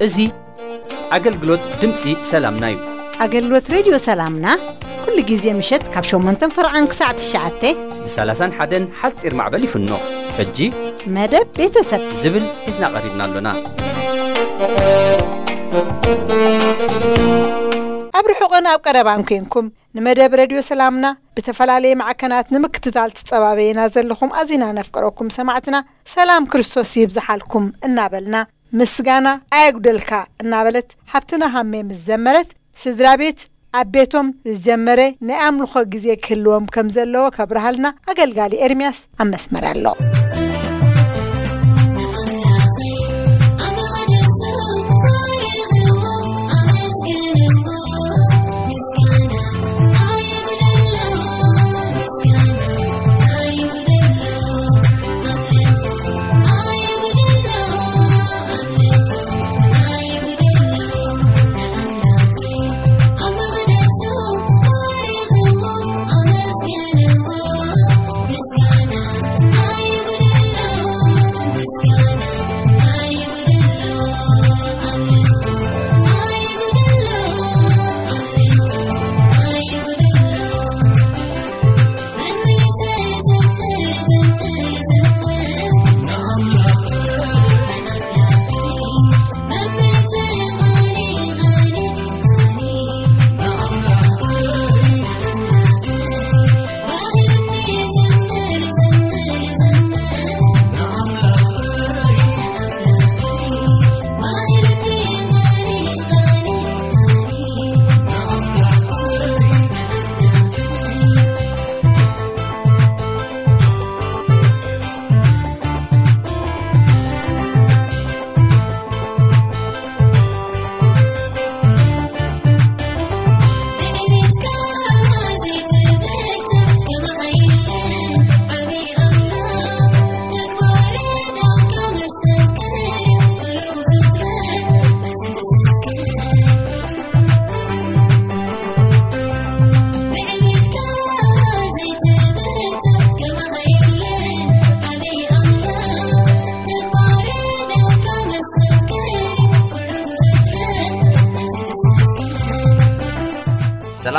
እዚ ኣገልግሎት ድምፂ ሰላምና እዩ። ኣገልግሎት ሬድዮ ሰላምና ኩሉ ግዜ ምሸት ካብ ሸሞንተን ፈርዓን ክሳዕ ትሽዓተ ብ ሰላሳን ሓደን ሓፂር ማዕበል ይፍኖ። ሕጂ መደብ ቤተሰብ ዝብል ሒዝና ቀሪብና ኣሎና። ኣብ ርሑቕን ኣብ ቀረባን ኮንኩም ንመደብ ሬድዮ ሰላምና ብተፈላለየ ማዕከናት ንምክትታል ትጸባበየና ዘለኹም ኣዚና ነፍቅረኩም ሰማዕትና ሰላም ክርስቶስ ይብዝሓልኩም እናበልና ምስጋና ኣየጉደልካ እናበለት ሓብትና ሃሜ ምስ ዘመረት ስድራ ቤት ኣብ ቤቶም ዝጀመረ ናይ ኣምልኾ ግዜ ክህልዎም ከም ዘለዎ ከብርሃልና ኣገልጋሊ ኤርምያስ ኣብ መስመር ኣሎ።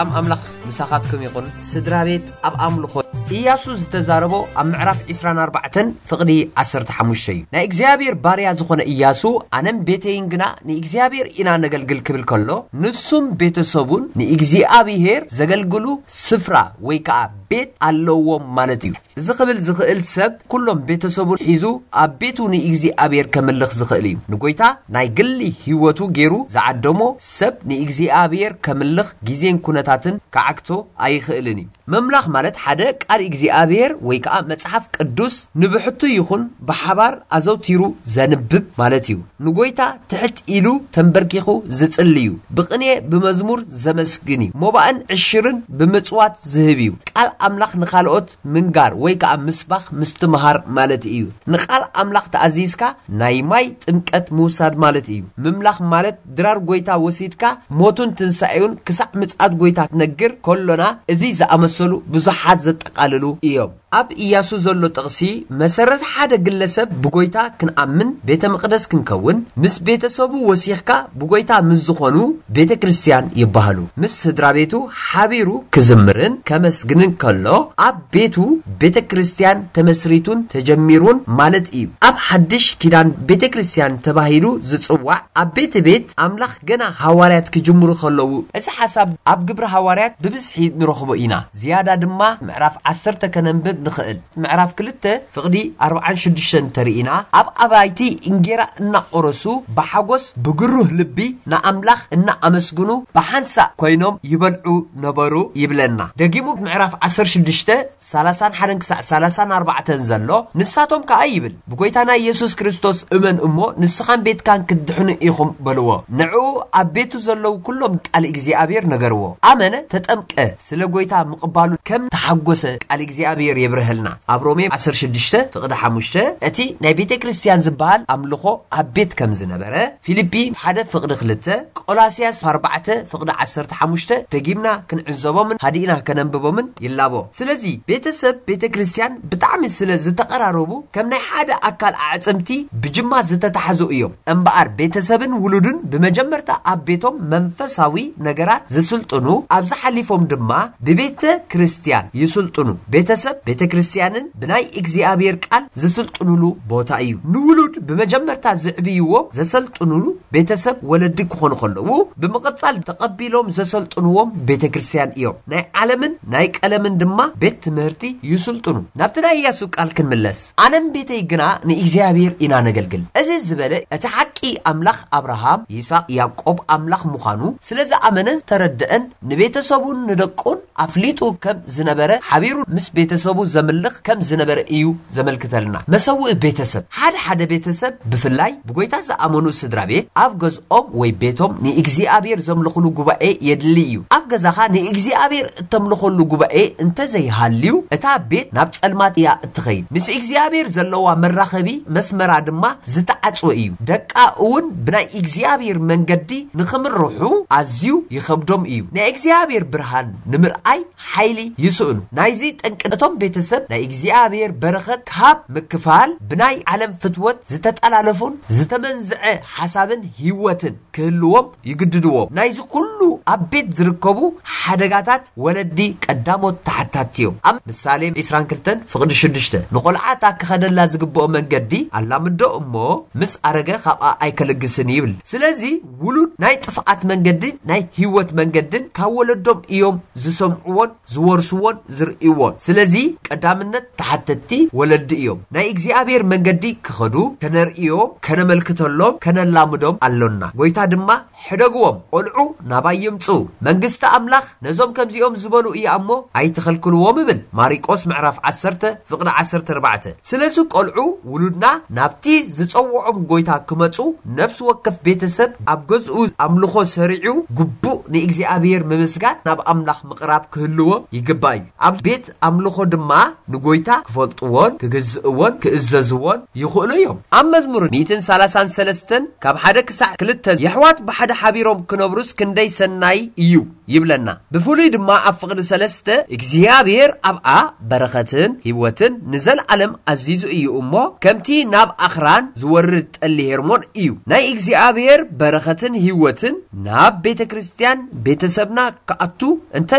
ሰላም ኣምላኽ ምሳኻትኩም ይኹን። ስድራ ቤት ኣብ ኣምልኾ። ኢያሱ ዝተዛረቦ ኣብ ምዕራፍ ዕስራን ኣርባዕተን ፍቕዲ ዓሰርተ ሓሙሽተ እዩ። ናይ እግዚኣብሔር ባርያ ዝኾነ ኢያሱ፣ ኣነም ቤተይን ግና ንእግዚኣብሔር ኢና ነገልግል ክብል ከሎ፣ ንሱም ቤተሰቡን ንእግዚኣብሔር ዘገልግሉ ስፍራ ወይ ከዓ ቤት ኣለዎም ማለት እዩ። እዚ ክብል ዝኽእል ሰብ ኩሎም ቤተሰቡን ሒዙ ኣብ ቤቱ ንእግዚኣብሔር ከምልኽ ዝኽእል እዩ። ንጎይታ ናይ ግሊ ህይወቱ ገይሩ ዝዓደሞ ሰብ ንእግዚኣብሔር ከምልኽ ግዜን ኩነታትን ክዓግቶ ኣይኽእልን እዩ። ምምላኽ ማለት ሓደ ቃል እግዚኣብሔር ወይ ከዓ መጽሓፍ ቅዱስ ንብሕቱ ይኹን ብሓባር ኣዘውቲሩ ዘንብብ ማለት እዩ። ንጎይታ ትሕት ኢሉ ተንበርኪኹ ዝጽሊ እዩ። ብቕኔ ብመዝሙር ዘመስግን እዩ። ሞባእን ዕሽርን ብምጽዋት ዝህብ እዩ። ቃል ኣምላኽ ንኻልኦት ምንጋር ወይ ከዓ ምስባኽ ምስትምሃር ማለት እዩ። ንቃል ኣምላኽ ተኣዚዝካ ናይ ማይ ጥምቀት ምውሳድ ማለት እዩ። ምምላኽ ማለት ድራር ጎይታ ወሲድካ ሞቱን ትንሳኤውን ክሳዕ ምጽኣት ጎይታ ትነግር ከሎና፣ እዚ ዝኣመሰሉ ብዙሓት ዘጠቓልሉ እዮም። ኣብ ኢያሱ ዘሎ ጥቕሲ መሰረት ሓደ ግለሰብ ብጎይታ ክንኣምን ቤተ መቕደስ ክንከውን ምስ ቤተሰቡ ወሲኽካ ብጎይታ ምስ ዝኾኑ ቤተ ክርስቲያን ይበሃሉ። ምስ ስድራ ቤቱ ሓቢሩ ክዝምርን ከመስግንን ከሎ ኣብ ቤቱ ቤተ ክርስቲያን ተመስሪቱን ተጀሚሩን ማለት እዩ። ኣብ ሓድሽ ኪዳን ቤተ ክርስቲያን ተባሂሉ ዝጽዋዕ ኣብ ቤተ ቤት ኣምላኽ ገና ሃዋርያት ክጅምሩ ከለዉ። እዚ ሓሳብ ኣብ ግብሪ ሃዋርያት ብብዝሒ ንረኽቦ ኢና። ዝያዳ ድማ ምዕራፍ ዓሰርተ ከነንብብ ንኽእል። ምዕራፍ ክልተ ፍቕዲ ኣርብዓን ሽዱሽተን እንተርኢና፣ ኣብ ኣባይቲ እንጌራ እናቖረሱ ብሓጎስ ብግሩህ ልቢ ንኣምላኽ እናኣመስግኑ ብሓንሳእ ኮይኖም ይበልዑ ነበሩ ይብለና። ደጊሙ ምዕራፍ ዓሰርተ ሽዱሽተ፣ ሰላሳን ሓደን ክሳዕ ሰላሳን ኣርባዕተን ዘሎ፣ ንሳቶም ከኣ ይብል፣ "ብጎይታና ኢየሱስ ክርስቶስ እመን እሞ ንስኻን ቤትካን ክትድሕኑ ኢኹም" በልዎ። ንዕኡ ኣብ ቤቱ ዘለዉ ኩሎም ቃል እግዚኣብሔር ነገርዎ። ኣመነ፣ ተጠምቀ፣ ስለ ጎይታ ምቕባሉ ከም ተሓጎሰ ቃል እግዚኣብሔር የብርሀልና። ኣብ ሮሜ ዓሰርተ ሽዱሽተ ፍቕዲ ሓሙሽተ፣ እቲ ናይ ቤተ ክርስቲያን ዝበሃል ኣምልኾ ኣብ ቤት ከም ዝነበረ፣ ፊልጲ ሓደ ፍቕዲ ክልተ፣ ቆላስያስ ኣርባዕተ ፍቕዲ ዓሰርተ ሓሙሽተ፣ ደጊምና ክንዕዘቦምን ሃዲእና ከነንብቦምን ይላቦ። ስለዚ ቤተሰብ ቤተ ክርስቲያን ብጣዕሚ ስለ ዝተቐራረቡ፣ ከም ናይ ሓደ ኣካል ኣዕጽምቲ ብጅማ ዝተታሕዙ እዮም። እምበኣር ቤተሰብን ውሉድን ብመጀመርታ ኣብ ቤቶም መንፈሳዊ ነገራት ዝስልጥኑ፣ ኣብዚ ሓሊፎም ድማ ብቤተ ክርስቲያን ይስልጥኑ። ቤተሰብ ቤተ ክርስቲያንን ብናይ እግዚኣብሔር ቃል ዝስልጥኑሉ ቦታ እዩ። ንውሉድ ብመጀመርታ ዝዕብይዎም ዘሰልጥኑሉ ቤተሰብ ወለዲ ክኾኑ ከለዉ፣ ብምቕጻል ተቐቢሎም ዘሰልጥንዎም ቤተ ክርስቲያን እዮም። ናይ ዓለምን ናይ ቀለምን ድማ ቤት ትምህርቲ ይስልጥኑ። ናብቲ ናይ ኢያሱ ቃል ክንምለስ፣ "ኣነን ቤተይ ግና ንእግዚኣብሔር ኢና ነገልግል" እዚ ዝበለ፣ እቲ ሓቂ ኣምላኽ ኣብርሃም፣ ይስሐቅ፣ ያዕቆብ ኣምላኽ ምዃኑ ስለ ዝኣመነን ዝተረድአን፣ ንቤተሰቡን ንደቁን ኣፍሊጡ ከም ዝነበረ ሓቢሩ ምስ ቤተሰቡ ዘምልኽ ከም ዝነበረ እዩ ዘመልክተልና። መሰውኢ ቤተሰብ። ሓደ ሓደ ቤተሰብ፣ ብፍላይ ብጎይታ ዝኣመኑ ስድራ ቤት፣ ኣብ ገዝኦም ወይ ቤቶም ንእግዚኣብሔር ዘምልኹሉ ጉባኤ የድሊ እዩ። ኣብ ገዛኻ ንእግዚኣብሔር እተምልኸሉ ጉባኤ እንተዘይሃልዩ፣ እታ ቤት ናብ ጸልማት እያ እትኸይድ። ምስ እግዚኣብሔር ዘለዋ መራኸቢ መስመራ ድማ ዝተዓጽወ እዩ። ደቃ እውን ብናይ እግዚኣብሔር መንገዲ ንኽምርሑ ኣዝዩ ይኸብዶም እዩ። ናይ እግዚኣብሔር ብርሃን ንምርኣይ ሓይሊ ይስእኑ። ናይዚ ጠንቂ፣ እቶም ቤተሰብ ናይ እግዚኣብሔር በረኸት ካብ ምክፋል፣ ብናይ ዓለም ፍትወት ዝተጠላለፉን ዝተመንዝዐ ሓሳብን ህይወትን ክህልዎም ይግድድዎም። ናይዚ ኩሉ ኣብ ቤት ዝርከቡ ሓደጋታት ወለዲ ቀዳሞት ተሓታቲ እዮም። ኣብ ምሳሌ ዕስራን ክልተን ፍቕዲ ሽዱሽተ፣ "ንቖልዓ እታ ክኸደላ ዝግብኦ መንገዲ ኣላምዶ እሞ፣ ምስ ኣረገ ካብኣ ኣይከልግስን" ይብል። ስለዚ ውሉድ ናይ ጥፍኣት መንገድን ናይ ህይወት መንገድን ካብ ወለዶም እዮም ዝሰምዕዎን ዝወርስዎን ዝርእይዎን። ስለዚ ቀዳምነት ተሓተትቲ ወለዲ እዮም። ናይ እግዚኣብሔር መንገዲ ክኸዱ ከነርእዮም፣ ከነመልክተሎም፣ ከነላምዶም ኣሎና። ጎይታ ድማ፣ "ሕደግዎም፣ ቆልዑ ናባይ ይምጽኡ፣ መንግስቲ ኣምላኽ ነዞም ከምዚኦም ዝበሉ እያ እሞ ኣይትኸልክልዎም" እብል። ማሪቆስ ምዕራፍ ዓሰርተ ፍቕዲ ዓሰርተ ኣርባዕተ። ስለዚ ቆልዑ ውሉድና ናብቲ ዝጸውዖም ጎይታ ክመጹ፣ ነፍሲ ወከፍ ቤተሰብ ኣብ ገዝኡ ኣምልኾ ሰሪዑ፣ ግቡእ ንእግዚኣብሔር ምምስጋን፣ ናብ ኣምላኽ ምቕራብ ክህልዎ ይግባእ እዩ። ኣብ ቤት ኣምልኾ ድማ ንጎይታ ክፈልጥዎን ክግዝእዎን ክእዘዝዎን ይኽእሉ እዮም። ኣብ መዝሙር ሚእትን ሰላሳን ሰለስተን ካብ ሓደ ክሳዕ ክልተ፣ "የሕዋት ብሓደ ሓቢሮም ክነብሩስ ክንደይ ሰናይ እዩ" ይብለና። ብፍሉይ ድማ ኣብ ፍቕዲ ሰለስተ፣ "እግዚኣብሔር ኣብኣ በረኸትን ህይወትን ንዘለዓለም ኣዚዙ እዩ እሞ፣ ከምቲ ናብ ኣኽራን ዝወርድ ጠሊ ሄርሞን እዩ።" ናይ እግዚኣብሔር በረኸትን ህይወትን ናብ ቤተ ክርስቲያን ቤተሰብና ክኣቱ እንተ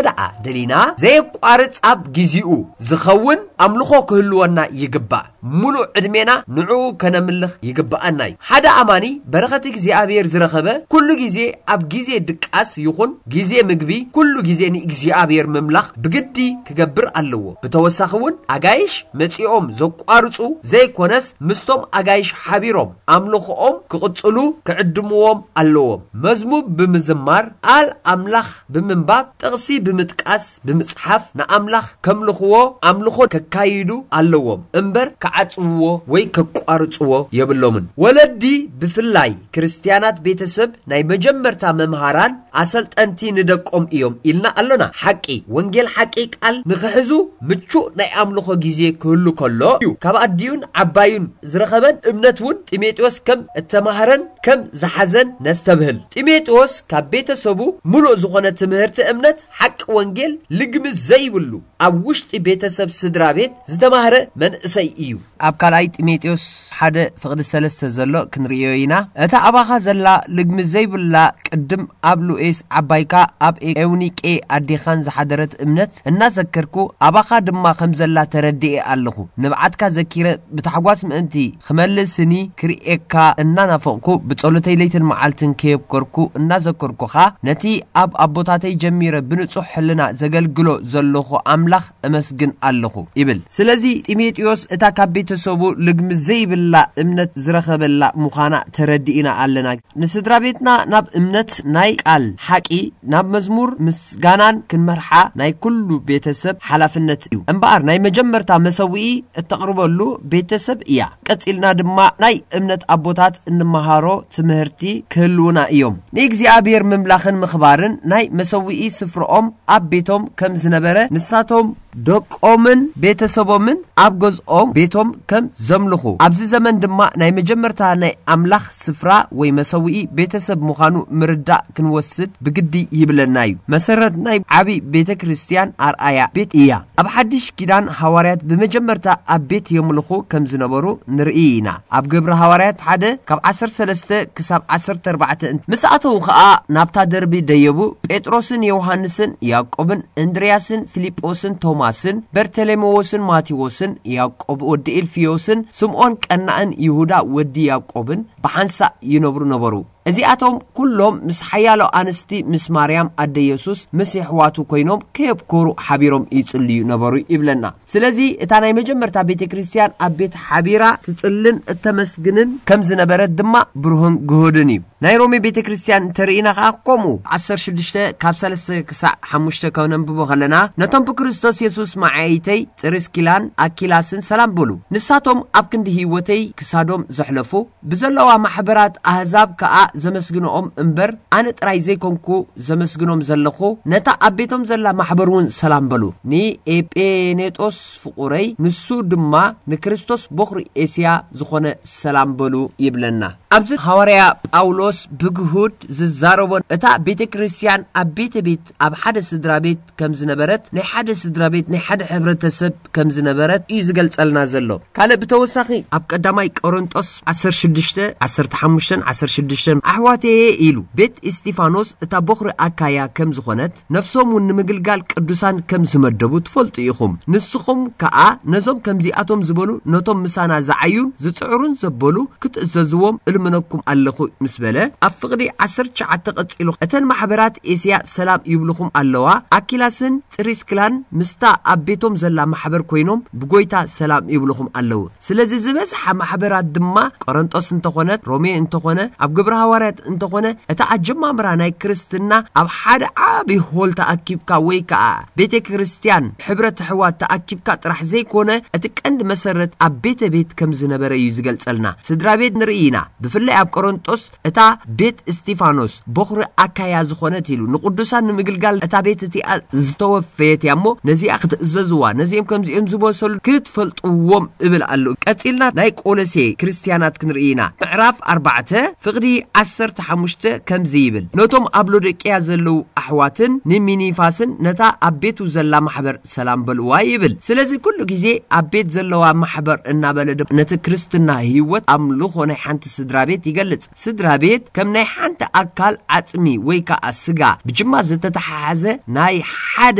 ደኣ ደሊና፣ ዘየቋርጽ ኣብ ጊዜኡ ዝኸውን ኣምልኾ ክህልወና ይግባእ። ምሉእ ዕድሜና ንዕኡ ከነምልኽ ይግብኣና እዩ። ሓደ ኣማኒ በረኸት እግዚኣብሔር ዝረኸበ፣ ኩሉ ግዜ ኣብ ግዜ ድቃስ ይኹን ግዜ ምግቢ፣ ኩሉ ግዜ ንእግዚኣብሔር ምምላኽ ብግዲ ክገብር ኣለዎ። ብተወሳኺ እውን ኣጋይሽ መጺኦም ዘቋርጹ ዘይኮነስ፣ ምስቶም ኣጋይሽ ሓቢሮም ኣምልኾኦም ክቕጽሉ ክዕድምዎም ኣለዎም። መዝሙር ብምዝማር፣ ቃል ኣምላኽ ብምንባብ፣ ጥቕሲ ብምጥቃስ፣ ብምጽሓፍ ንኣምላኽ ከምልኽዎ ኣምልኾ ከካይዱ ኣለዎም እምበር ክዓጽውዎ ወይ ከቋርጽዎ የብሎምን። ወለዲ ብፍላይ ክርስትያናት ቤተሰብ ናይ መጀመርታ መምሃራን ኣሰልጠንቲ ንደቆም እዮም ኢልና ኣሎና። ሓቂ ወንጌል ሓቂ ቃል ንኽሕዙ ምቹእ ናይ ኣምልኾ ግዜ ክህሉ ከሎ እዩ። ካብ ኣዲኡን ዓባዩን ዝረኸበን እምነት እውን ጢሞቴዎስ ከም እተማህረን ከም ዝሓዘን ነስተብህል። ጢሞቴዎስ ካብ ቤተሰቡ ምሉእ ዝኾነ ትምህርቲ እምነት ሓቂ ወንጌል ልግሚ ዘይብሉ ኣብ ውሽጢ ቤተሰብ ስድራ ቤት ዝተማህረ መንእሰይ እዩ። ኣብ ካልኣይ ጢሞቴዎስ ሓደ ፍቕዲ ሰለስተ ዘሎ ክንርእዮ ኢና። እታ ኣባኻ ዘላ ልግሚ ዘይብላ ቅድም ኣብ ሉኤስ ዓባይካ ኣብ ኤውኒቄ ኣዴኻን ዝሓደረት እምነት እናዘከርኩ ኣባኻ ድማ ከም ዘላ ተረዲኤ ኣለኹ። ንብዓትካ ዘኪረ ብታሕጓስ ምእንቲ ክመልስኒ ክርእየካ እናናፈቕኩ ብጸሎተይ ለይትን መዓልትን ከየብከርኩ እናዘከርኩኻ ነቲ ኣብ ኣቦታተይ ጀሚረ ብንጹሕ ሕልና ዘገልግሎ ዘለኹ ኣምላኽ እመስግን ኣለኹ ይብል። ስለዚ ጢሞቴዎስ እታ ካብ ቤተ ቤተሰቡ ልግሚ ዘይብላ እምነት ዝረኸበላ ምዃና ተረዲእና ኣለና። ንስድራ ቤትና ናብ እምነት ናይ ቃል ሓቂ፣ ናብ መዝሙር ምስጋናን ክንመርሓ ናይ ኩሉ ቤተሰብ ሓላፍነት እዩ። እምበኣር ናይ መጀመርታ መሰውኢ እተቕርበሉ ቤተሰብ እያ። ቀጺልና ድማ ናይ እምነት ኣቦታት እንመሃሮ ትምህርቲ ክህልውና እዮም። ንእግዚኣብሔር ምምላኽን ምኽባርን ናይ መሰውኢ ስፍርኦም ኣብ ቤቶም ከም ዝነበረ ንሳቶም ደቆምን ቤተሰቦምን ኣብ ገዝኦም ቤቶም ከም ዘምልኹ፣ ኣብዚ ዘመን ድማ ናይ መጀመርታ ናይ ኣምላኽ ስፍራ ወይ መሰውኢ ቤተሰብ ምዃኑ ምርዳእ ክንወስድ ብግዲ ይብለና እዩ። መሰረት ናይ ዓቢ ቤተ ክርስቲያን ኣርኣያ ቤት እያ። ኣብ ሓድሽ ኪዳን ሃዋርያት ብመጀመርታ ኣብ ቤት የምልኹ ከም ዝነበሩ ንርኢ ኢና። ኣብ ግብሪ ሃዋርያት ሓደ ካብ ዓሰርተ ሰለስተ ክሳብ ዓሰርተ ኣርባዕተ እን-፣ ምስ ኣተዉ ኸኣ ናብታ ደርቢ ደየቡ። ጴጥሮስን ዮሃንስን ያዕቆብን እንድርያስን ፊልጶስን ቶማስን በርተሌሜዎስን ማቴዎስን ያዕቆብ ወዲ ኢልፍዮስን ስምዖን ቀናእን ይሁዳ ወዲ ያዕቆብን ብሓንሳእ ይነብሩ ነበሩ። እዚኣቶም ኩሎም ምስ ሓያሎ ኣንስቲ ምስ ማርያም ኣደ የሱስ ምስ የሕዋቱ ኮይኖም ከየብኮሩ ሓቢሮም ይጽልዩ ነበሩ ይብለና። ስለዚ እታ ናይ መጀመርታ ቤተ ክርስቲያን ኣብ ቤት ሓቢራ ትጽልን እተመስግንን ከም ዝነበረት ድማ ብሩህን ግሁድን እዩ። ናይ ሮሜ ቤተ ክርስቲያን እንተርኢና ኸኣ ከምኡ ዓሰርተ ሽዱሽተ ካብ ሰለስተ ክሳዕ ሓሙሽተ ከነንብቦ ከለና፣ ነቶም ብክርስቶስ የሱስ መዓይተይ ጽሪስኪላን ኣኪላስን ሰላም በሉ። ንሳቶም ኣብ ክንዲ ህይወተይ ክሳዶም ዘሕለፉ፣ ብዘለዋ ማሕበራት ኣህዛብ ከኣ ዘመስግንኦም እምበር፣ ኣነ ጥራይ ዘይኮንኩ ዘመስግኖም ዘለኹ፣ ነታ ኣብ ቤቶም ዘላ ማሕበር እውን ሰላም በሉ። ንኤጴኔጦስ ፍቑረይ፣ ንሱ ድማ ንክርስቶስ ቦኽሪ ኤስያ ዝኾነ ሰላም በሉ ይብለና። ኣብዚ ሃዋርያ ጳውሎስ ብግሁድ ዝዛረቦ፣ እታ ቤተ ክርስቲያን ኣብ ቤተ ቤት፣ ኣብ ሓደ ስድራ ቤት ከም ዝነበረት፣ ናይ ሓደ ስድራ ቤት፣ ናይ ሓደ ሕብረተሰብ ከም ዝነበረት እዩ ዝገልጸልና ዘሎ። ካልእ ብተወሳኺ ኣብ ቀዳማይ ቆሮንጦስ ዓሰርተ ሽዱሽተ፣ ዓሰርተ ሓሙሽተን ዓሰርተ ሽዱሽተን፣ ኣሕዋተየ ኢሉ ቤት እስጢፋኖስ እታ ቦኽሪ ኣካያ ከም ዝኾነት፣ ነፍሶም እውን ንምግልጋል ቅዱሳን ከም ዝመደቡ ትፈልጡ ኢኹም። ንስኹም ከኣ ነዞም ከምዚኣቶም ዝበሉ፣ ነቶም ምሳና ዝዓዩን ዝጽዕሩን ዘበሉ ክትእዘዝዎም እልምነኩም ኣለኹ ምስ በለ፣ ኣብ ፍቕዲ ዓሰርተ ትሽዓተ ቀጺሉ፣ እተን ማሕበራት ኤስያ ሰላም ይብልኹም ኣለዋ። ኣኪላስን ጽሪስክላን ምስታ ኣብ ቤቶም ዘላ ማሕበር ኮይኖም ብጎይታ ሰላም ይብልኹም ኣለዉ። ስለዚ ዝበዝሓ ማሕበራት ድማ ቆረንጦስ እንተኾነት፣ ሮሜ እንተኾነ፣ ኣብ ግብረ ሃዋርያት እንተኾነ፣ እታ ኣጀማምራ ናይ ክርስትና ኣብ ሓደ ዓቢ ሆል ተኣኪብካ ወይ ከኣ ቤተ ክርስቲያን ሕብረት ኣሕዋት ተኣኪብካ ጥራሕ ዘይኮነ፣ እቲ ቀንዲ መሰረት ኣብ ቤተ ቤት ከም ዝነበረ እዩ ዝገልጸልና። ስድራ ቤት ንርኢ ኢና። ብፍላይ ኣብ ቆሮንጦስ እታ ቤት እስጢፋኖስ ቦኽሪ ኣካያ ዝኾነት ኢሉ ንቅዱሳን ንምግልጋል እታ ቤት እቲኣ ዝተወፈየት እያ እሞ ነዚኣ ክትእዘዝዋ፣ ነዚኦም ከምዚኦም ዝበሰሉ ክትፈልጥዎም እብል ኣለዉ። ቀጺልና ናይ ቆሎሴ ክርስትያናት ክንርኢ ኢና። ምዕራፍ ኣርባዕተ ፍቕዲ ዓሰርተ ሓሙሽተ ከምዚ ይብል፣ ነቶም ኣብ ሎዶቅያ ዘለዉ ኣሕዋትን ንሚኒፋስን ነታ ኣብ ቤቱ ዘላ ማሕበር ሰላም በልዋ ይብል። ስለዚ ኩሉ ግዜ ኣብ ቤት ዘለዋ ማሕበር እናበለ ድ-፣ ነቲ ክርስትና ህይወት ኣምልኾ ናይ ሓንቲ ስድራ ቤት ይገልጽ። ስድራ ቤት ከም ናይ ሓንቲ ኣካል ዓጽሚ ወይ ከኣ ስጋ ብጅማ ዝተተሓሓዘ ናይ ሓደ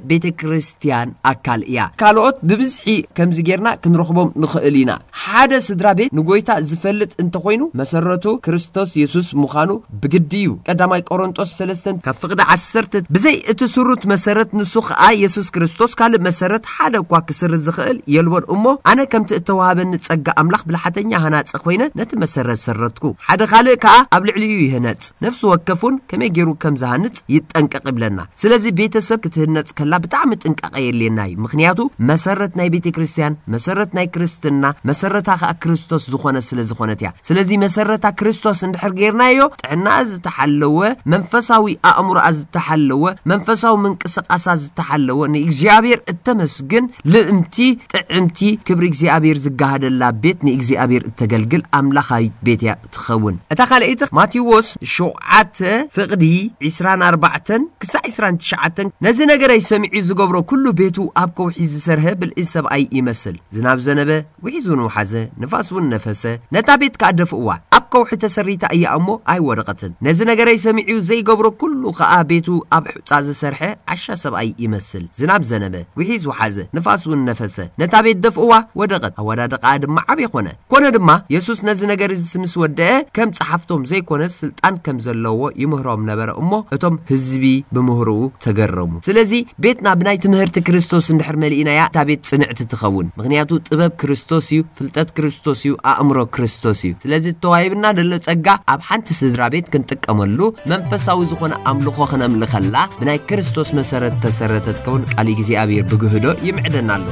ቤተ ክርስቲያን ኣካል እያ። ካልኦት ብብዝሒ ከምዚ ጌርና ክንረኽቦም ንኽእል ኢና። ሓደ ስድራ ቤት ንጎይታ ዝፈልጥ እንተኾይኑ መሰረቱ ክርስቶስ የሱስ ምዃኑ ብግዲ እዩ። ቀዳማይ ቆሮንጦስ ሰለስተ ካብ ፍቕዲ ዓሰርተ፣ ብዘይ እቲ ስሩት መሰረት ንሱ ኸኣ የሱስ ክርስቶስ ካልእ መሰረት ሓደ እኳ ክስርዝ ዝኽእል የልቦን። እሞ ኣነ ከምቲ እተዋህበኒ ጸጋ ኣምላኽ ብልሓተኛ ሃናጺ ኮይነ ነቲ መሰረት ሰረትኩ። ሓደ ካልእ ከኣ ኣብ ልዕሊኡ ይህነጽ። ነፍሲ ወከፍ እውን ከመይ ገይሩ ከም ዝሃንጽ ይጠንቀቕ ይብለና። ስለዚ ቤተሰብ ክትህነጽ ከላ ብጣዕሚ ጥንቃቐ የድልየና እዩ። ምኽንያቱ መሰረት ናይ ቤተ ክርስቲያን፣ መሰረት ናይ ክርስትና፣ መሰረታ ከኣ ክርስቶስ ዝኾነ ስለ ዝኾነት እያ። ስለዚ መሰረታ ክርስቶስ እንድሕር ጌርናዮ፣ ጥዕናኣ ዝተሓለወ፣ መንፈሳዊ ኣእምሮኣ ዝተሓለወ፣ መንፈሳዊ ምንቅስቃሳ ዝተሓለወ፣ ንእግዚኣብሔር እተመስግን ልእምቲ ጥዕምቲ ክብሪ እግዚኣብሔር ዝጋሃደላ ቤት ንእግዚኣብሔር እተገልግል ኣምላኻዊት ቤት እያ ትኸውን። እታ ካልኣይቲ ማቴዎስ ሸውዓተ ፍቕዲ ዕስራን ኣርባዕተን ክሳዕ ዕስራን ትሽዓተን፣ ነዚ ነገረይ ሰሚዑ ዝገብሮ ኩሉ ቤቱ ኣብ ከውሒ ዝሰርሀ ብልዒ ሰብኣይ ይመስል። ዝናብ ዘነበ፣ ውሒዝ እውን ወሓዘ፣ ንፋስ እውን ነፈሰ፣ ነታ ቤት ከኣ ደፍእዋ። ኣብ ከውሒ ተሰሪታ እያ እሞ ኣይወደቐትን። ነዚ ነገረይ ሰሚዑ ዘይገብሮ ኩሉ ኸኣ ቤቱ ኣብ ሑጻ ዝሰርሐ ዓሻ ሰብኣይ ይመስል። ዝናብ ዘነበ፣ ጒሒዝ ወሓዘ፣ ንፋስ እውን ነፈሰ። ነታ ቤት ደፍእዋ፣ ወደቐት። ኣወዳድቓኣ ድማ ዓቢ ኾነ። ኮነ ድማ፣ የሱስ ነዚ ነገር እዚ ምስ ወደአ፣ ከም ጸሓፍቶም ዘይኮነስ ስልጣን ከም ዘለዎ ይምህሮም ነበረ እሞ፣ እቶም ህዝቢ ብምህሮኡ ተገረሙ። ስለዚ፣ ቤትና ብናይ ትምህርቲ ክርስቶስ እንድሕር መሊእናያ፣ እታ ቤት ጽንዕቲ ትኸውን። ምኽንያቱ፣ ጥበብ ክርስቶስ እዩ፣ ፍልጠት ክርስቶስ እዩ፣ ኣእምሮ ክርስቶስ እዩ። ስለዚ፣ እተዋሂብና ዘሎ ጸጋ ኣብ ሓንቲ ስድራ ቤት ክንጥቀመሉ፣ መንፈሳዊ ዝኾነ ኣምልኾ ክነምልኸላ፣ ብናይ ክርስቶስ መሰረት ተሰረተት ከውን ቃል እግዚኣብሔር ብግህዶ ይምዕደና ኣሎ።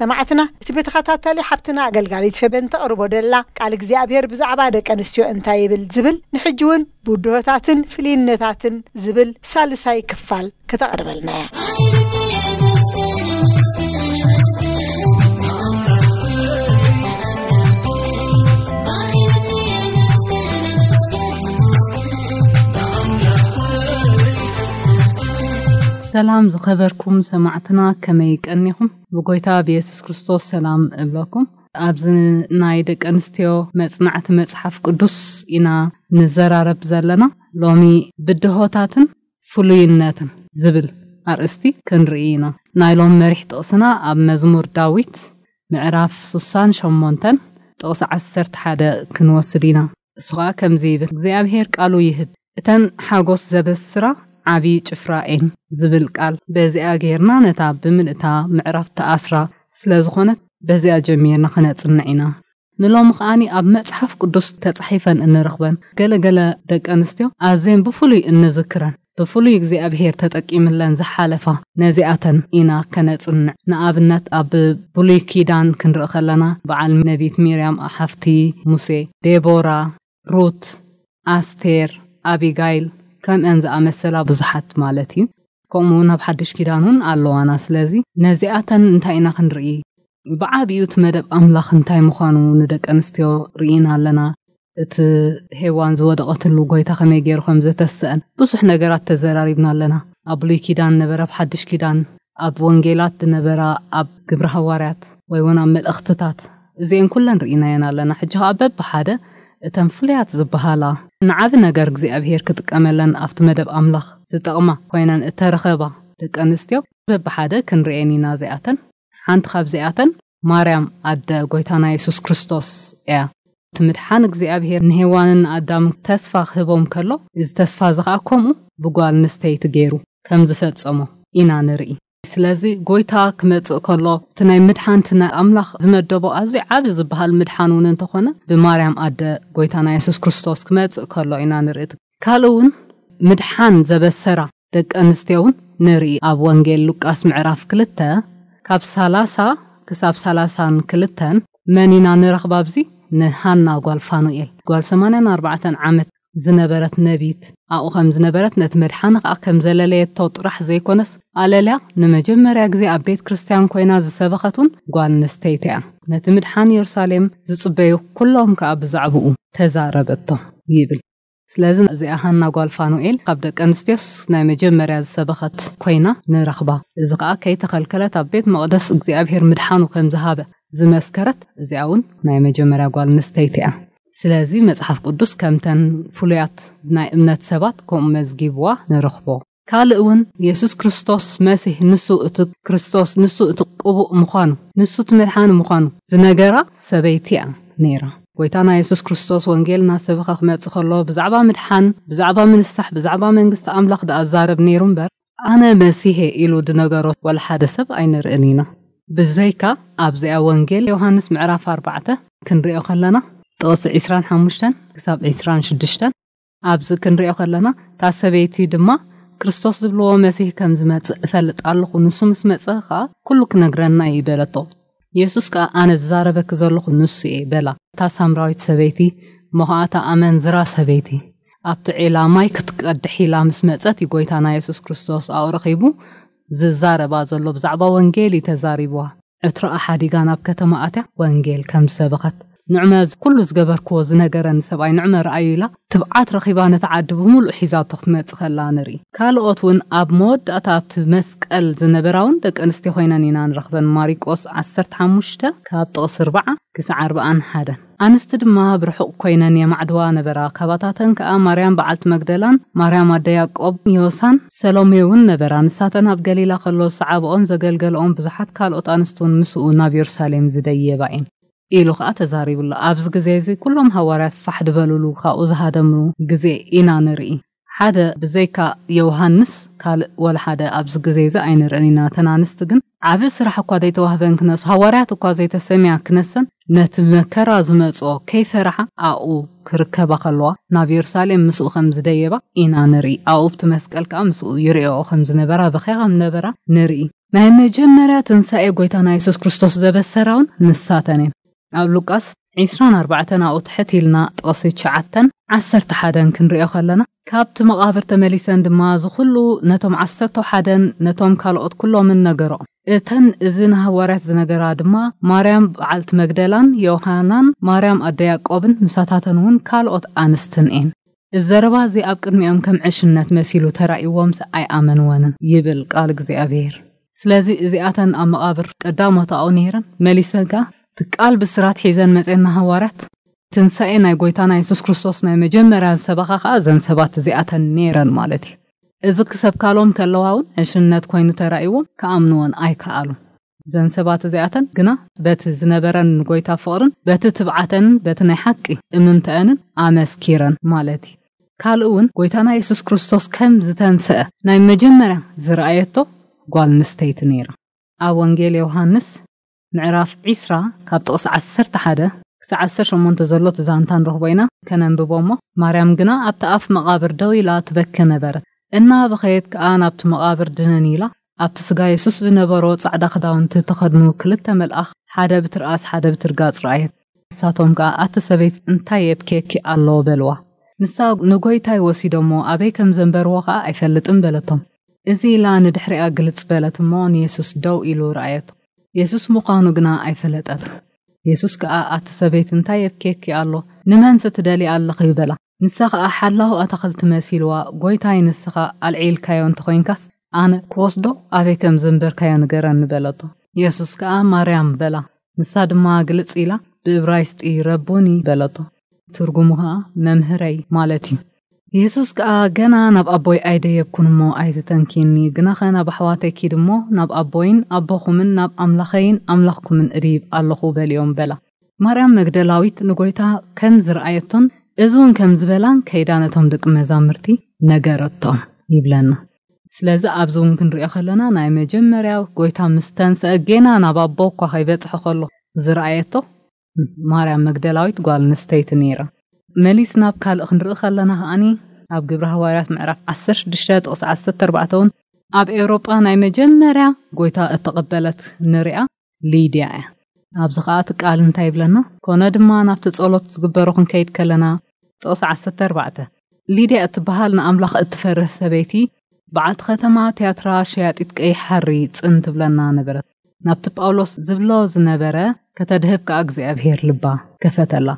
ሰማዕትና፣ እቲ ብተኸታታሊ ሓብትና ኣገልጋሊት ፌበን ተቕርቦ ደላ ቃል እግዚኣብሔር ብዛዕባ ደቂ ኣንስትዮ እንታይ ይብል ዝብል፣ ንሕጂ እውን ብድሆታትን ፍልይነታትን ዝብል ሳልሳይ ክፋል ከተቕርበልና እያ። ሰላም ዝኸበርኩም ሰማዕትና፣ ከመይ ቀኒኹም? ብጎይታ ብየሱስ ክርስቶስ ሰላም እብለኩም። ኣብዚ ናይ ደቂ ኣንስትዮ መጽናዕቲ መጽሓፍ ቅዱስ ኢና ንዘራረብ ዘለና። ሎሚ ብድሆታትን ፍሉይነትን ዝብል ኣርእስቲ ክንርኢ ኢና። ናይ ሎም መሪሕ ጥቕስና ኣብ መዝሙር ዳዊት ምዕራፍ ስሳን ሸሞንተን ጥቕሲ ዓሰርተ ሓደ ክንወስድ ኢና። እሱ ኸኣ ከምዚ ይብል፣ እግዚኣብሔር ቃሉ ይህብ፣ እተን ሓጎስ ዘበስራ ዓቢ ጭፍራ እየን ዝብል ቃል። በዚኣ ጌርና ነታ ብምልእታ ምዕራፍ ተኣስራ ስለ ዝኾነት በዚኣ ጀሚርና ኸነጽንዕ ኢና። ንሎሚ ኸኣኒ ኣብ መጽሓፍ ቅዱስ ተጻሒፈን እንረኽበን ገለ ገለ ደቂ ኣንስትዮ ኣዝየን ብፍሉይ እንዝክረን ብፍሉይ እግዚኣብሔር ተጠቂምለን ዝሓለፋ ነዚኣተን ኢና ከነጽንዕ። ንኣብነት ኣብ ብሉይ ኪዳን ክንርኢ ከለና በዓል ነቢት ሚርያም ሓፍቲ ሙሴ፣ ዴቦራ፣ ሩት፣ ኣስቴር፣ ኣቢጋይል ከምአን ዝኣመሰላ ብዙሓት ማለት እዩ። ከምኡ እውን ኣብ ሓድሽ ኪዳን እውን ኣለዋና። ስለዚ ነዚኣተን እንታይ ኢና ክንርኢ? ብዓቢኡ እቲ መደብ ኣምላኽ እንታይ ምዃኑ ንደቂ ኣንስትዮ ርኢና ኣለና። እቲ ሄዋን ዝወደቐትሉ ጎይታ ከመይ ገይሩ ከም ዘተስአን ብዙሕ ነገራት ተዘራሪብና ኣለና። ኣብ ብሉይ ኪዳን ነበረ፣ ኣብ ሓድሽ ኪዳን፣ ኣብ ወንጌላት ዝነበራ፣ ኣብ ግብረ ሃዋርያት ወይ እውን ኣብ መልእኽትታት፣ እዚአን ኩለን ርኢናየን ኣለና። ሕጂ ኸኣ በብሓደ እተን ፍሉያት ዝበሃላ ንዓቢ ነገር እግዚኣብሔር ክጥቀመለን ኣብቲ መደብ ኣምላኽ ዝጠቕማ ኮይነን እተረኸባ ደቂ ኣንስትዮ በብሓደ ክንርእየን ኢና። እዚኣተን ሓንቲ ካብዚኣተን ማርያም ኣደ ጎይታና የሱስ ክርስቶስ እያ። እቲ ምድሓን እግዚኣብሔር ንሄዋንን ንኣዳም ተስፋ ክህቦም ከሎ፣ እዚ ተስፋ እዚ ኸኣ ከምኡ ብጓል ኣንስተይቲ ገይሩ ከም ዝፈጸሞ ኢና ንርኢ። ስለዚ ጎይታ ክመጽእ ከሎ፣ እቲ ናይ ምድሓን፣ እቲ ናይ ኣምላኽ ዝመደቦ ኣዝዩ ዓቢ ዝበሃል ምድሓን እውን እንተኾነ፣ ብማርያም ኣደ ጎይታና የሱስ ክርስቶስ ክመጽእ ከሎ ኢና ንርኢ። ካልእ እውን ምድሓን ዘበሰራ ደቂ ኣንስትዮ እውን ንርኢ። ኣብ ወንጌል ሉቃስ ምዕራፍ ክልተ ካብ ሰላሳ ክሳብ ሰላሳን ክልተን መን ኢና ንረኽባ ኣብዚ? ንሃና ጓል ፋኑኤል፣ ጓል ሰማንያን ኣርባዕተን ዓመት ዝነበረት ነቢት ኣብኡ ከም ዝነበረት፣ ነቲ መድሓኒ ኸኣ ከም ዘለለየቶ ጥራሕ ዘይኮነስ፣ ኣለልያ ንመጀመርያ ግዜ ኣብ ቤት ክርስትያን ኮይና ዝሰበኸት እውን ጓል ኣንስተይቲ እያ። ነቲ ምድሓን የሩሳሌም ዝጽበዩ ኩሎም ከኣ ብዛዕባኡ ተዛረበቶም ይብል። ስለዚ እዚኣ ሃና ጓል ፋኑኤል ካብ ደቂ ኣንስትዮስ ናይ መጀመርያ ዝሰበኸት ኮይና ንረኽባ። እዚ ኸኣ ከይተኸልከለት ኣብ ቤት መቕደስ እግዚኣብሔር ምድሓኑ ከም ዝሃበ ዝመስከረት፣ እዚኣ እውን ናይ መጀመርያ ጓል ኣንስተይቲ እያ። ስለዚ መጽሓፍ ቅዱስ ከምተን ፍሉያት ናይ እምነት ሰባት ከምኡ መዝጊብዋ ንረኽቦ። ካልእ እውን የሱስ ክርስቶስ መሲህ፣ ንሱ እቲ ክርስቶስ፣ ንሱ እቲ ቅቡእ ምዃኑ፣ ንሱ እቲ መድሓኒ ምዃኑ ዝነገራ ሰበይቲ እያ ነይራ። ጎይታና የሱስ ክርስቶስ ወንጌል እናሰበኸ ክመጽእ ከሎ ብዛዕባ ምድሓን፣ ብዛዕባ ምንሳሕ፣ ብዛዕባ መንግስቲ ኣምላኽ ደኣ ዛረብ ነይሩ እምበር፣ ኣነ መሲሄ ኢሉ ዝነገሮ ወላ ሓደ ሰብ ኣይንርእን ኢና። ብዘይካ ኣብዚኣ ወንጌል ዮሃንስ ምዕራፍ ኣርባዕተ ክንሪኦ ከለና፣ ጥቕሲ ዕስራን ሓሙሽተን ክሳብ ዕስራን ሽዱሽተን ኣብዚ ክንሪኦ ከለና፣ እታ ሰበይቲ ድማ፣ "ክርስቶስ ዝብልዎ መሲህ ከም ዝመጽእ እፈልጥ ኣለኹ፣ ንሱ ምስ መጸ ኸኣ ኩሉ ክነግረና እዩ" በለቶ። የሱስ ከኣ፣ "ኣነ ዝዛረበኪ ዘለኹ ንሱ እየ" በላ። እታ ሳምራዊት ሰበይቲ፣ እሞ ኸኣ እታ ኣመንዝራ ሰበይቲ፣ ኣብቲ ዒላ ማይ ክትቀድሕ ኢላ ምስ መጸት፣ ጎይታና የሱስ ክርስቶስ ኣብኡ ረኺቡ ዝዛረባ ዘሎ ብዛዕባ ወንጌል እዩ ተዛሪብዋ። ዕትሮኣ ሓዲጋ ናብ ከተማ ኣትያ ወንጌል ከም ዝሰበኸት፣ "ንዕመ ኩሉ ዝገበርክዎ ዝነገረኒ ሰብኣይ ንዕመ ረኣዩ" ኢላ ትብዓት ረኺባ ነቲ ዓዲ ብምሉእ ሒዛቶ ክትመጽእ ከላ ንርኢ። ካልኦት እውን ኣብ መወዳእታ ኣብቲ መስቀል ዝነበራ እውን ደቂ ኣንስትዮ ኮይነን ኢና ንረኽበን። ማሪቆስ ዓሰርተ ሓሙሽተ ካብ ጥቕሲ ኣርብዓ ክሳዕ ኣርብዓን ሓደን። ኣንስቲ ድማ ብርሑቕ ኮይነን የማዕድዋ ነበራ። ካባታተን ከኣ ማርያም በዓልቲ መግደላን ማርያም ኣደ ያዕቆብ ዮሳን ሰሎሜ እውን ነበራ። ንሳተን ኣብ ገሊላ ከሎ ዝሰዓብኦን ዘገልገልኦን ብዙሓት ካልኦት ኣንስቲ እውን ምስኡ ናብ የሩሳሌም ዝደየባ እየን። ኢሉ ኸኣ ተዛሪቡ ኣሎ። ኣብዚ ግዜ እዚ ኩሎም ሃዋርያት ፋሕ ዝበሉሉ፣ ካብኡ ዝሃደምሉ ግዜ ኢና ንርኢ። ሓደ ብዘይካ ዮሃንስ ካልእ ወላ ሓደ ኣብዚ ግዜ እዚ ኣይንርእን ኢና። እተን ኣንስቲ ግን ዓቢ ስራሕ እኳ ዘይተዋህበን ክነሱ፣ ሃዋርያት እኳ ዘይተሰምያ ክነሰን፣ ነቲ መከራ ዝመጽኦ ከይፈርሓ ኣብኡ ክርከባ ከለዋ፣ ናብ የሩሳሌም ምስኡ ከም ዝደየባ ኢና ንርኢ። ኣብኡ ኣብቲ መስቀል ከኣ ምስኡ ይርእኦ ከም ዝነበራ፣ በኽያ ከም ነበራ ንርኢ። ናይ መጀመርያ ትንሳኤ ጎይታና የሱስ ክርስቶስ ዘበሰራ እውን ንሳተን እየን። ኣብ ሉቃስ ዕስራን ኣርባዕተን ኣብኡ ትሕት ኢልና ጥቕሲ ትሽዓተን ዓሰርተ ሓደን ክንሪኦ ከለና፣ ካብቲ መቓብር ተመሊሰን ድማ እዚ ኩሉ ነቶም ዓሰርተ ሓደን ነቶም ካልኦት ኩሎምን ነገርኦም። እተን እዚ ንሃዋርያት ዝነገራ ድማ ማርያም በዓልቲ መግደላን ዮሃናን ማርያም ኣደ ያዕቆብን ምሳታተን እውን ካልኦት ኣንስትን እየን። እዚ ዘረባ እዚ ኣብ ቅድሚኦም ከም ዕሽነት መሲሉ ተራእይዎምስ ኣይኣመንወንን ይብል ቃል እግዚኣብሔር። ስለዚ እዚኣተን ኣብ መቓብር ቀዳሞት ኣብኡ ነይረን፣ መሊሰን ከኣ እቲ ቃል ብስራት ሒዘን መጼና ሃዋርያት፣ ትንሳኤ ናይ ጎይታና የሱስ ክርስቶስ ናይ መጀመርያ ዝሰበኻ ከኣ እዘን ሰባት እዚኣተን ነይረን ማለት እዩ። እዚ ክሰብካሎም ከለዋ እውን ዕሽነት ኮይኑ ተራእይዎም፣ ክኣምንወን ኣይከኣሉን። እዘን ሰባት እዚኣተን ግና በቲ ዝነበረን ንጎይታ ፍቕርን በቲ ትብዓተንን በቲ ናይ ሓቂ እምንተአንን ኣመስኪረን ማለት እዩ። ካልእ እውን ጎይታና የሱስ ክርስቶስ ከም ዝተንስአ ናይ መጀመርያ ዝረኣየቶ ጓል ኣንስተይቲ ነይራ። ኣብ ወንጌል ዮሃንስ ምዕራፍ ዕስራ ካብ ጥቕሲ ዓሰርተ ሓደ ክሳዕ ዓሰርተ ሸሞንተ ዘሎ እቲ ዛንታ ንረኽቦ ኢና። ከነንብቦ እሞ፣ "ማርያም ግና ኣብቲ ኣፍ መቓብር ደው ኢላ ትበኪ ነበረት። እናበኸየት ከኣ ናብቲ መቓብር ድንን ኢላ፣ ኣብቲ ስጋ የሱስ ዝነበሮ ጻዕዳ ክዳውንቲ እተኸድኑ ክልተ መልኣኽ፣ ሓደ ብትርኣስ ሓደ ብትርጋጽ ረኣየት። ንሳቶም ከኣ፣ 'ኣቲ ሰበይቲ፣ እንታይ የብኬኪ ኣሎ?' በልዋ። ንሳ፣ 'ንጎይታይ ወሲዶሞ፣ ኣበይ ከም ዘንበርዎ ከኣ ኣይፈልጥን' በለቶም። እዚ ኢላ ንድሕሪኣ ግልጽ በለት እሞ፣ ንየሱስ ደው ኢሉ ረኣየቶ። የሱስ ምዃኑ ግና ኣይፈለጠትን። የሱስ ከኣ፣ 'ኣቲ ሰበይቲ፣ እንታይ የብኬኪ ኣሎ? ንመንስ ትደልያ ኣለኺ?' በላ። ንሳ ኸኣ ሓላው ኣታኽልቲ መሲልዋ፣ "ጎይታይ፣ ንስኻ ኣልዒልካዮ እንተኾይንካስ፣ ኣነ ክወስዶ ኣበይ ከም ዘንበርካዮ ንገረኒ" በለቶ። የሱስ ከኣ፣ "ማርያም" በላ። ንሳ ድማ ግልጽ ኢላ ብእብራይስጢ "ረቡኒ" በለቶ። ትርጉሙ ኸኣ "መምህረይ" ማለት እዩ። የሱስ ከኣ፣ "ገና ናብ ኣቦይ ኣይደየብኩን እሞ ኣይትተንኪኒ፣ ግናኸ ናብ ኣሕዋተይ ኪድ እሞ ናብ ኣቦይን ኣቦኹምን ናብ ኣምላኸይን ኣምላኽኩምን እድይብ ኣለኹ" በልዮም በላ። ማርያም መግደላዊት ንጎይታ ከም ዝረኣየቶን እዚ እውን ከም ዝበላን ከይዳ ነቶም ደቂ መዛሙርቲ ነገረቶም ይብለና። ስለዚ ኣብዚ እውን ክንሪኦ ከለና ናይ መጀመርያ ጎይታ ምስ ተንስአ ጌና ናብ ኣቦ እኳ ከይበጽሐ ከሎ ዝረኣየቶ ማርያም መግደላዊት ጓል ኣንስተይቲ ነይራ። መሊስ ናብ ካልእ ክንርኢ ከለና ከኣኒ ኣብ ግብሪ ሃዋርያት ምዕራፍ ዓሰርተ ሽዱሽተ ጥቕሲ ዓሰርተ ኣርባዕተ እውን ኣብ ኤውሮጳ ናይ መጀመርያ ጎይታ እተቐበለት ንሪኣ ሊድያ እያ። ኣብዚ ኸኣ እቲ ቃል እንታይ ይብለና? ኮነ ድማ ናብቲ ጸሎት ዝግበሮ ክንከይድ ከለና፣ ጥቕሲ ዓሰርተ ኣርባዕተ፣ ሊድያ እትበሃል ንኣምላኽ እትፈርህ ሰበይቲ፣ በዓልቲ ከተማ ትያትራ ሸያጢት ቀይሕ ሓሪ ጽን ትብለና ነበረት። ናብቲ ጳውሎስ ዝብሎ ዝነበረ ከተድህብ ከኣ እግዚኣብሔር ልባ ከፈተላ።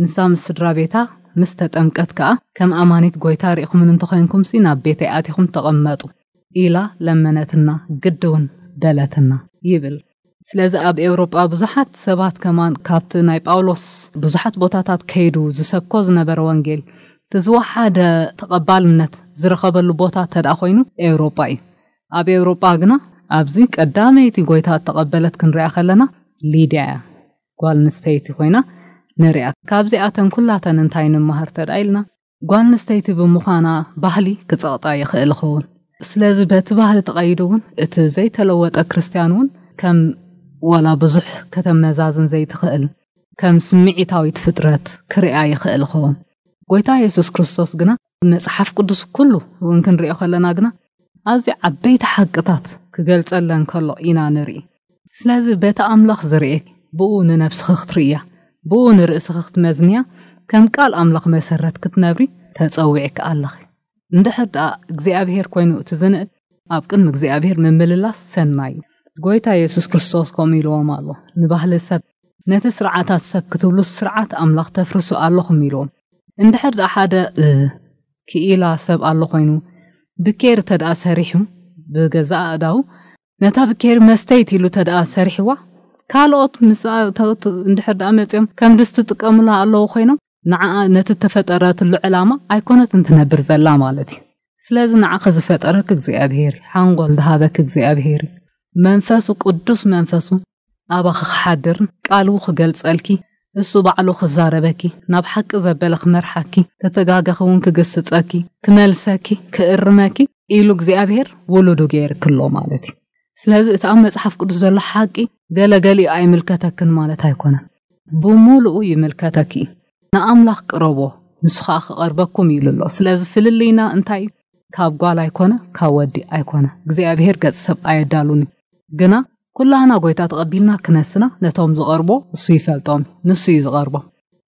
ንሳ ምስ ስድራ ቤታ ምስ ተጠምቀት ከኣ፣ "ከም ኣማኒት ጐይታ ርኢኹምን እንተኾይንኩምሲ፣ ናብ ቤተይ ኣቲኹም ተቐመጡ" ኢላ ለመነትና፣ ግዲ እውን በለትና ይብል። ስለዚ ኣብ ኤውሮጳ ብዙሓት ሰባት ከማን ካብቲ ናይ ጳውሎስ ብዙሓት ቦታታት ከይዱ ዝሰብኮ ዝነበረ ወንጌል፣ እቲ ዝወሓደ ተቐባልነት ዝረኸበሉ ቦታ እንተ ደኣ ኮይኑ ኤውሮጳ እዩ። ኣብ ኤውሮጳ ግና ኣብዚ ቀዳመይቲ ጐይታ እተቐበለት ክንሪኣ ከለና ሊድያ እያ። ጓል ኣንስተይቲ ኮይና ንሪኣ። ካብዚኣተን ኩላተን እንታይ ንመሃር እንተ ደኣ ኢልና፣ ጓል ኣንስተይቲ ብምዃና ባህሊ ክጸቕጣ ይኽእል ይኸውን። ስለዚ በቲ ባህሊ ተቐይዱ እውን እቲ ዘይተለወጠ ክርስትያን እውን ከም ዋላ ብዙሕ ከተመዛዝን ዘይትኽእል ከም ስምዒታዊት ፍጥረት ክርኣ ይኽእል ይኸውን። ጎይታ የሱስ ክርስቶስ ግና መጽሓፍ ቅዱስ ኩሉ እውን ክንሪኦ ከለና ግና ኣዝዩ ዓበይቲ ሓቅታት ክገልጸለን ከሎ ኢና ንርኢ። ስለዚ በቲ ኣምላኽ ዝርእየኪ ብኡ ንነብስኺ ክትርእያ፣ ብኡ ንርእስኺ ክትመዝንያ፣ ከም ቃል ኣምላኽ መሰረት ክትነብሪ ተጸዊዕኪ ኣለኺ። እንድሕር ደኣ እግዚኣብሔር ኮይኑ እቲ ዝንእል ኣብ ቅድሚ እግዚኣብሔር ምምልላስ ሰናይ እዩ። ጎይታ የሱስ ክርስቶስ ከምኡ ኢልዎም ኣሎ፣ ንባህሊ ሰብ፣ ነቲ ስርዓታት ሰብ ክትብሉ ስርዓት ኣምላኽ ተፍርሱ ኣለኹም ኢልዎም። እንድሕር ደኣ ሓደ እ፣ ክኢላ ሰብ ኣሎ ኮይኑ ብኬር ተደኣ ሰሪሑ ብገዛእ ኣእዳው ነታ ብኬር መስተይት ኢሉ ተደኣ ሰሪሕዋ ካልኦት ምስ እንድሕር ደኣ መፅኦም ከም ድስቲ ጥቀሙላ ኣለዉ ኮይኖም ንዓ ነቲ ተፈጠረትሉ ዕላማ ኣይኮነትን ትነብር ዘላ ማለት እዩ። ስለዚ ንዓኺ ዝፈጠረክ እግዚኣብሔር እዩ። ሓንጎል ዝሃበክ እግዚኣብሔር እዩ። መንፈሱ ቅዱስ መንፈሱ ኣባኺ ክሓድርን ቃሉ ክገልጸልኪ እሱ ባዕሉ ክዛረበኪ ናብ ሓቂ ዘበለ ክመርሓኪ ተተጋገኺ እውን ክግስጸኪ ክመልሰኪ ክእርመኪ ኢሉ እግዚኣብሔር ውሉዱ ገይርክሎ ማለት እዩ። ስለዚ እቲ ኣብ መጽሓፍ ቅዱስ ዘሎ ሓቂ ገለገሊኡ ኣይምልከተክን ማለት ኣይኮነን። ብምሉኡ ይምልከተኪ እዩ። ንኣምላኽ ቅረቦ ንሱ ኸኣ ክቐርበኩም ኢሉ ኣሎ። ስለዚ ፍልልይና እንታይ እዩ? ካብ ጓል ኣይኮነ ካብ ወዲ ኣይኮነ። እግዚኣብሔር ገጽ ሰብ ኣየዳሉን እዩ። ግና ኩላህና ጎይታ ተቐቢልና ክነስና ነቶም ዝቐርቦ እሱ ይፈልጦም እዩ። ንሱ እዩ ዝቐርቦ።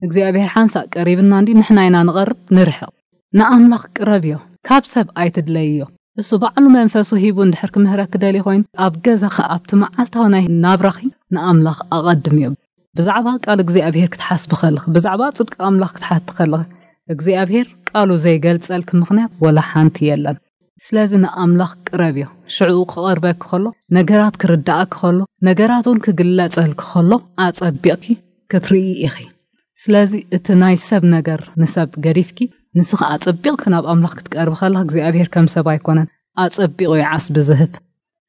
እግዚኣብሔር ሓንሳእ ቀሪብና እንዲ ንሕና ኢና ንቐርብ ንርሕቕ። ንኣምላኽ ቅረብዮ፣ ካብ ሰብ ኣይትድለይዮ። እሱ ባዕሉ መንፈሱ ሂቡ እንድሕር ክምህረኪ ደልዩ ኮይኑ ኣብ ገዛኺ ኣብቲ መዓልታዊ ናይ ናብራኺ ንኣምላኽ ኣቐድምዮ። ብዛዕባ ቃል እግዚኣብሔር ክትሓስቢ ከለኺ ብዛዕባ ጽድቂ ኣምላኽ ክትሓቲ ከለኺ እግዚኣብሔር ቃሉ ዘይገልጸልኪ ምኽንያት ወላ ሓንቲ የለን። ስለዚ ንኣምላኽ ቅረብዮ። ሽዕኡ ክቐርበኪ ከሎ ነገራት ክርዳእኪ ከሎ ነገራት እውን ክግለጸልኪ ከሎ ኣጸቢቕኪ ክትርኢ ኢኺ። ስለዚ እቲ ናይ ሰብ ነገር ንሰብ ገዲፍኪ ንስኺ ኣጸቢቕኪ ናብ ኣምላኽ ክትቀርቢ ከለኺ እግዚኣብሔር ከም ሰብ ኣይኮነን። ኣጸቢቑ እዩ ዓስቢ ዝህብ።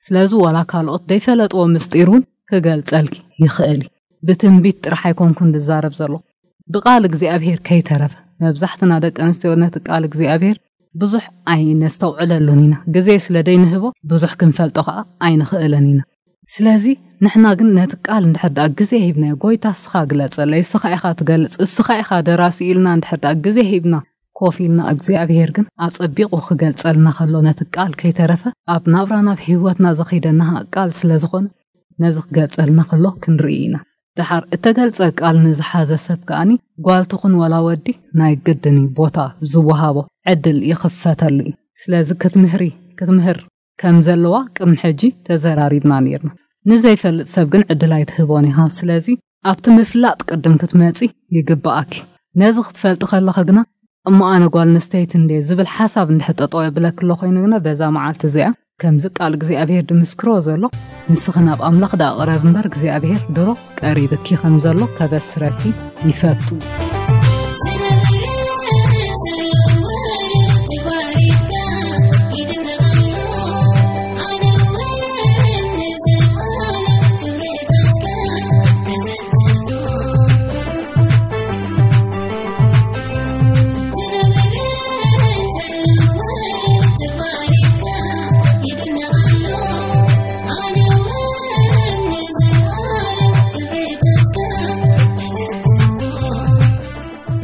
ስለዚ ዋላ ካልኦት ዘይፈለጥዎ ምስጢር እውን ክገልጸልኪ ይኽእል እዩ። ብትንቢት ጥራሕ ኣይኮንኩን ዝዛረብ ዘለኹ ብቃል እግዚኣብሔር ከይተረፈ መብዛሕትና ደቂ ኣንስትዮ ነቲ ቃል እግዚኣብሔር ብዙሕ ኣይነስተውዕለሉን ኢና። ግዜ ስለ ደይንህቦ ብዙሕ ክንፈልጦ ከዓ ኣይንኽእልን ኢና። ስለዚ ንሕና ግን ነቲ ቃል እንድሕር ደኣ ግዜ ሂብናዮ ጎይታ እስኻ ግለጸለይ እስኻ ኢኻ ትገልጽ እስኻ ኢኻ ደራሲ ኢልና እንድሕር ደኣ ግዜ ሂብና ኮፍ ኢልና እግዚኣብሔር ግን ኣጸቢቑ ክገልጸልና ከሎ ነቲ ቃል ከይተረፈ ኣብ ናብራና ኣብ ህይወትና ዘኺደና ቃል ስለ ዝኾነ ነዚ ክገልጸልና ከሎ ክንርኢ ኢና። ደሓር እተገልጸ ቃል ንዝሓዘ ሰብ ከኣኒ ጓል ትኹን ወላ ወዲ ናይ ግድን እዩ ቦታ ዝወሃቦ ዕድል ይኽፈተሉ እዩ። ስለዚ ክትምህሪ ክትምህር ከም ዘለዋ ቅድሚ ሕጂ ተዘራሪብና ነይርና። ንዘይፈልጥ ሰብ ግን ዕድል ኣይትህቦን ኢኻ። ስለዚ ኣብቲ ምፍላጥ ቅድም ክትመጺ ይግብኣኪ። ነዚ ክትፈልጢ ከለኺ ግና እሞ ኣነ ጓል ኣንስተይቲ እንድየ ዝብል ሓሳብ እንድሕር ጠጠው የብለኪ ኣሎ ኮይኑ ግና በዛ መዓልቲ እዚኣ ከምዚ ቃል እግዚኣብሔር ድምስክሮ ዘሎ ንስኺ ናብ ኣምላኽ ደኣ ቅረብ እምበር እግዚኣብሔር ድሮ ቀሪብኪ ከም ዘሎ ከበስረኪ ይፈቱ።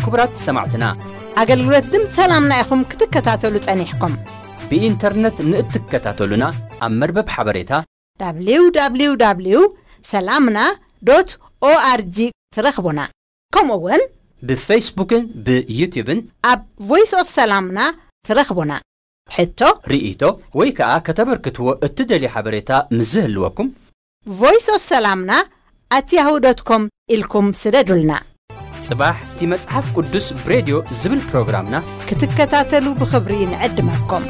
ክቡራት ሰማዕትና፣ ኣገልግሎት ድምፂ ሰላምና ኢኹም ክትከታተሉ ጸኒሕኩም። ብኢንተርነት ንእትከታተሉና ኣብ መርበብ ሓበሬታ www ሰላምና ዶት ኦኣርጂ ትረኽቡና። ከምኡ እውን ብፌስቡክን ብዩትዩብን ኣብ ቮይስ ኦፍ ሰላምና ትረኽቡና። ሕቶ፣ ርእይቶ ወይ ከዓ ከተበርክትዎ እትደልዩ ሓበሬታ ምስ ዝህልወኩም ቮይስ ኦፍ ሰላምና ኣት ያሁ ዶት ኮም ኢልኩም ስደዱልና። ጽባሕ እቲ መጽሓፍ ቅዱስ ብሬድዮ ዝብል ፕሮግራምና ክትከታተሉ ብኽብሪ ንዕድመኩም።